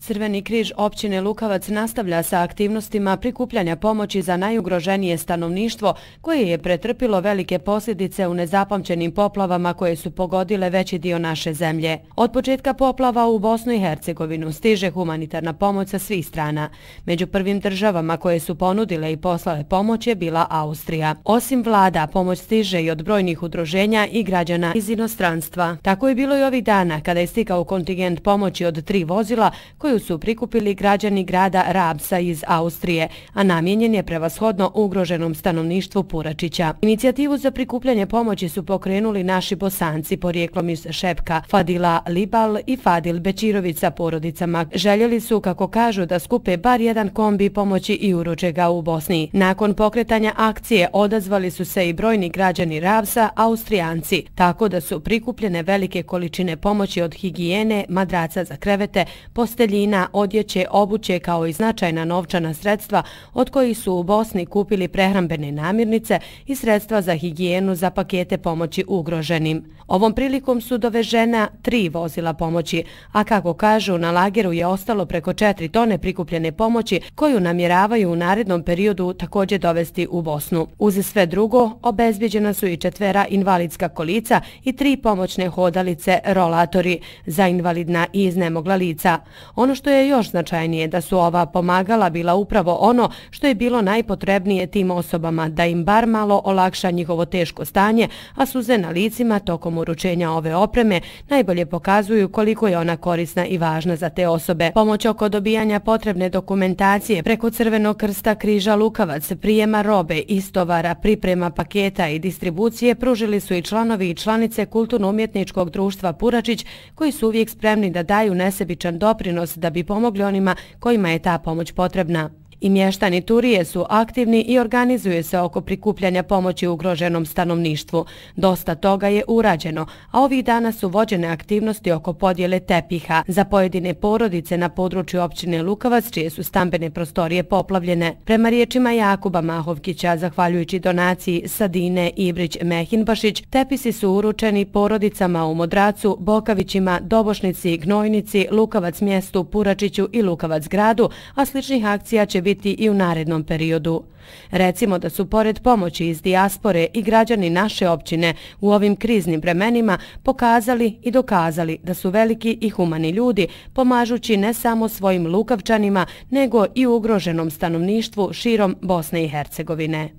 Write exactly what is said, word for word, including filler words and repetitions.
Crveni križ općine Lukavac nastavlja sa aktivnostima prikupljanja pomoći za najugroženije stanovništvo koje je pretrpilo velike posljedice u nezapamćenim poplavama koje su pogodile veći dio naše zemlje. Od početka poplava u Bosnu i Hercegovinu stiže humanitarna pomoć sa svih strana. Među prvim državama koje su ponudile i poslale pomoć je bila Austrija. Osim vlada, pomoć stiže i od brojnih udruženja i građana iz inostranstva. Tako je bilo i ovih dana kada je stigao kontingent pomoći od tri vozila koju su prikupili građani grada Rabsa iz Austrije, a namijenjen je prevashodno ugroženom stanovništvu Puračića. Inicijativu za prikupljanje pomoći su pokrenuli naši Bosanci porijeklom iz Šepka, Fadila Libal i Fadil Bečirović sa porodicama. Željeli su, kako kažu, da skupe bar jedan kombi pomoći i uruče ga u Bosni. Nakon pokretanja akcije odazvali su se i brojni građani Rabsa, Austrijanci, tako da su prikupljene velike količine pomoći od higijene, madraca za krevete, posteljina, odjeće, obuće kao i značajna novčana sredstva od kojih su u Bosni kupili prehrambene namirnice i sredstva za higijenu za pakete pomoći ugroženim. Ovom prilikom su dovežena tri vozila pomoći, a kako kažu, na lageru je ostalo preko četiri tone prikupljene pomoći koju namjeravaju u narednom periodu također dovesti u Bosnu. Uz sve drugo, obezbjeđena su i četvera invalidska kolica i tri pomoćne hodalice rolatori za invalidna i iznemogla lica. Ono što je još značajnije da su ova pomagala bila upravo ono što je bilo najpotrebnije tim osobama, da im bar malo olakša njihovo teško stanje, a suze na licima tokom uručenja ove opreme najbolje pokazuju koliko je ona korisna i važna za te osobe. Pomoć oko dobijanja potrebne dokumentacije preko Crvenog krsta križa Lukavac, prijema robe, istovara, priprema paketa i distribucije pružili su i članovi i članice Kulturno-umjetničkog društva Puračić, koji su uvijek spremni da daju nesebičan doprinos da bi pomogli onima kojima je ta pomoć potrebna. I mještani Turije su aktivni i organizuju se oko prikupljanja pomoći ugroženom stanovništvu. Dosta toga je urađeno, a ovih dana su vođene aktivnosti oko podjele tepiha za pojedine porodice na području općine Lukavac, čije su stambene prostorije poplavljene. Prema riječima Jakuba Mahovkića, zahvaljujući donaciji Sadine Ibrić-Mehinbašić, tepisi su uručeni porodicama u Modracu, Bokavićima, Dobošnici, Gnojnici, Lukavac mjestu, Puračiću i Lukavac gradu, a sličnih akcija će biti biti i u narednom periodu. Recimo da su pored pomoći iz dijaspore i građani naše općine u ovim kriznim vremenima pokazali i dokazali da su veliki i humani ljudi, pomažući ne samo svojim Lukavčanima, nego i ugroženom stanovništvu širom Bosne i Hercegovine.